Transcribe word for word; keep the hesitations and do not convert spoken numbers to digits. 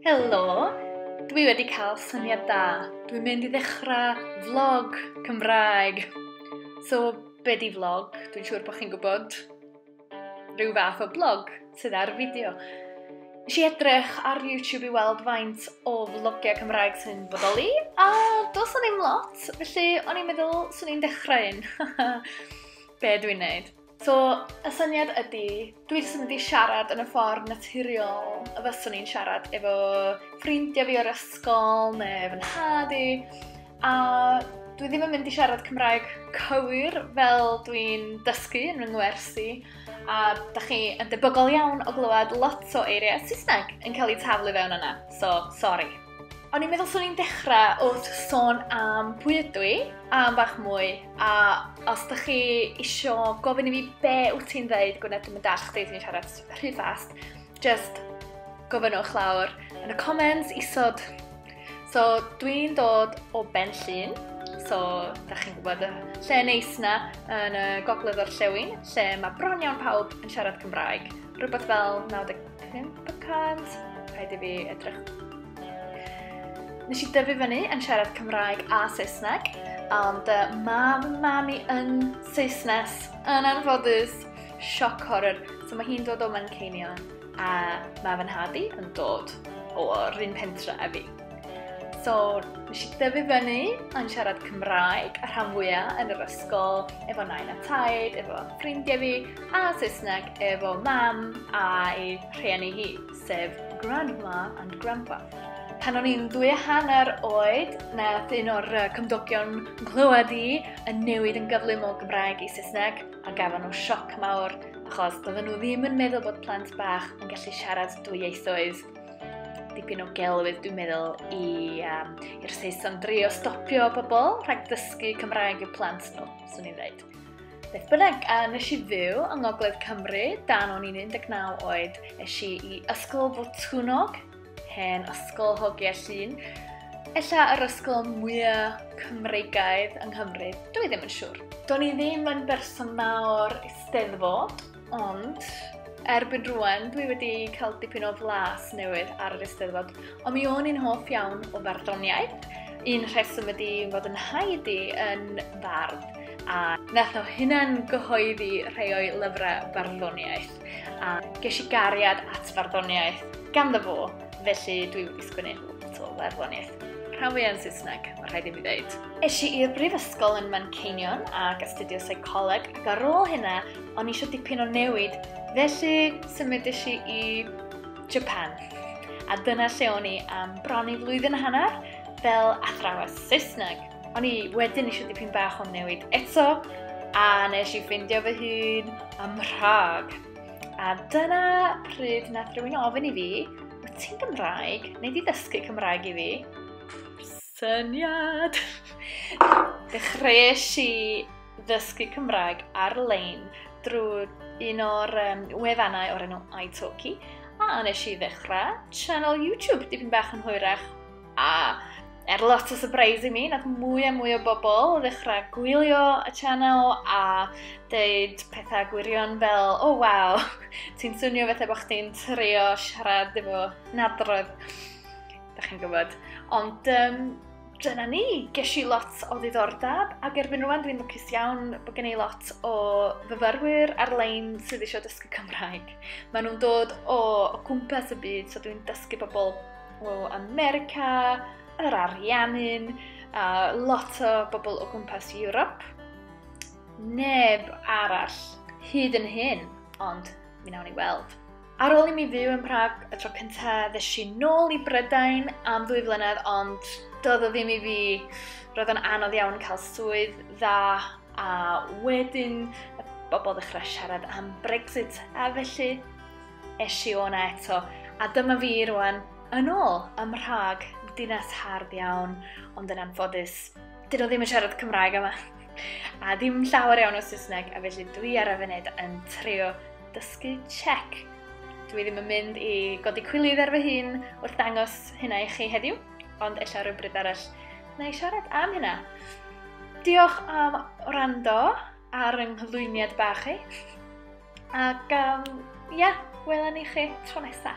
Helo! Dwi wedi cael syniad da. Dwi'n mynd i ddechrau vlog Cymraeg. So, be di vlog? Dwi'n siŵr bod chi'n gwybod rhyw fath o blog sydd ar fideo. Nes i edrych ar YouTube i weld faint o vlogiau Cymraeg sy'n bodoli, a does na ddim lot, felly o'n i'n meddwl swn i'n dechrau un. Be dwi'n neud? So, y syniad ydy, dwi jyst yn mynd i siarad yn y ffordd naturiol y fyswn i'n siarad efo ffrindiau fi o'r ysgol neu fy nhad i, a dwi ddim yn mynd i siarad Cymraeg cywir fel dwi'n dysgu yn fy ngwersi, a da chi yn debygol iawn o glywed lot o eiriau Saesneg yn cael eu taflu fewn yna, so sorry. O'n i'n meddwl swn i'n dechrau wrth sôn am pwy ydw i, am bach mwy, a os da chi isio gofyn i fi be wyt ti'n ddeud, Gwyneth, dwi'm yn dallt chdi, ti'n siarad rhy fast, just gofynnwch lawr yn y comments isod. So, dwi'n dod o Ben Llŷn, so da chi'n gwybod y lle neis na yn y gogledd orllewin, lle mae bron iawn pawb yn siarad Cymraeg. Rhywbeth fel naw deg pump y cant, rhaid i fi edrych. Nes i dyfu fyny yn siarad Cymraeg a Saesneg, ond uh, mae fy mam i yn Saesnes, yn anffodus, shock horror. So mae hi'n dod o Manceinion, a mae fy nhad i yn dod o'r un pentre â fi. So nes i dyfu fyny yn siarad Cymraeg a rhan fwyaf yn yr ysgol, efo nain a taid, efo ffrindiau fi, a Saesneg efo mam a'i rhieni hi, sef grandma and grandpa. Pan o'n i'n ddwy a hanner oed, nath un o'r yy, cymdogion nghlywed i yn newid yn gyflym o Gymraeg i Saesneg, a gafon nhw sioc mawr, achos doedden nhw ddim yn meddwl bod plant bach yn gallu siarad dwy ieithoedd. Dipyn o gelwydd, dwi'n meddwl, i, um, i'r Saeson drio stopio pobl rhag dysgu Cymraeg i'w plant nhw, swn i'n dweud. Beth bynnag, a nes i fyw yng Ngogledd Cymru dan o'n i'n un deg naw oed, es i i Ysgol Botwnnog, hen ysgol hogia Llŷn. Ella yr ysgol mwyaf Cymreigaidd yng Nghymru, dwi ddim yn siŵr. Do'n i ddim yn berson mawr Eisteddfod, ond erbyn rŵan dwi wedi cael dipyn o flas newydd ar yr Eisteddfod, ond mi o'n i'n hoff iawn o farddoniaeth. Un rheswm ydi fod yn nhaid i yn fardd, a nath o hunan gyhoeddi rhai o'i lyfrau barddoniaeth, a ges i gariad at farddoniaeth ganddo fo, felly dwi wedi sgwennu lot o farddoniaeth. Rhan fwyaf yn Saesneg, mae rhaid i mi ddeud. Es i i'r brifysgol yn Manceinion ac astudio seicoleg, ac ar ôl hynna, o'n i eisiau dipyn o newid, felly symudes i i Japan. A dyna lle o'n i am bron i flwyddyn a hanner fel athrawes Saesneg. O'n i wedyn eisiau dipyn bach o newid eto, a nes i ffindio fy hun ym Mhrag. A dyna pryd nath rhywun ofyn i fi, wyt ti'n Gymraeg? Neu di ddysgu Cymraeg i fi? Syniad! Dechreuais i ddysgu Cymraeg ar-lein drwy un o'r, um, wefannau o'r enw iTalki, a nes i ddechrau channel YouTube dipyn bach yn hwyrach, a er lot o surprise i mi, nath mwy a mwy o bobl ddechrau gwylio y channel a deud pethau gwirion fel, oh waw, ti'n swnio fatha bod chdi'n trio siarad efo nadrodd. Da chi'n gwybod. Ond, um, dyna ni, ges i lot o ddiddordeb, ac erbyn rŵan dwi'n lwcus iawn bod gen i lot o fyfyrwyr ar-lein sydd eisiau dysgu Cymraeg. Maen nhw'n dod o, o gwmpas y byd, so dwi'n dysgu bobl o America, yr Ariannin, a lot o bobl o gwmpas Ewrop. Neb arall hyd yn hyn, ond mi wnawn ni weld. Ar ôl i mi fyw yn Prag y tro cyntaf, ddes i nôl i Brydain am ddwy flynedd, ond doedd o ddim i fi. Roedd o'n anodd iawn cael swydd dda, a wedyn y bobl ddechrau siarad am Brexit, a felly es i o'na eto. A dyma fi rŵan yn ôl ym Mhrag, dinas hardd iawn, ond yn anffodus, dyn nhw ddim yn siarad Cymraeg yma, a ddim llawer iawn o Saesneg, a felly dwi ar y funud yn trio dysgu Czech. Dwi ddim yn mynd i godi cwilydd ar fy hun wrth ddangos hynna i chi heddiw, ond ella rhywbryd arall na i siarad am hynna. Diolch am wrando ar yng nghyflwyniad bach i, ac, um, ia, welwn ni chi tro nesa.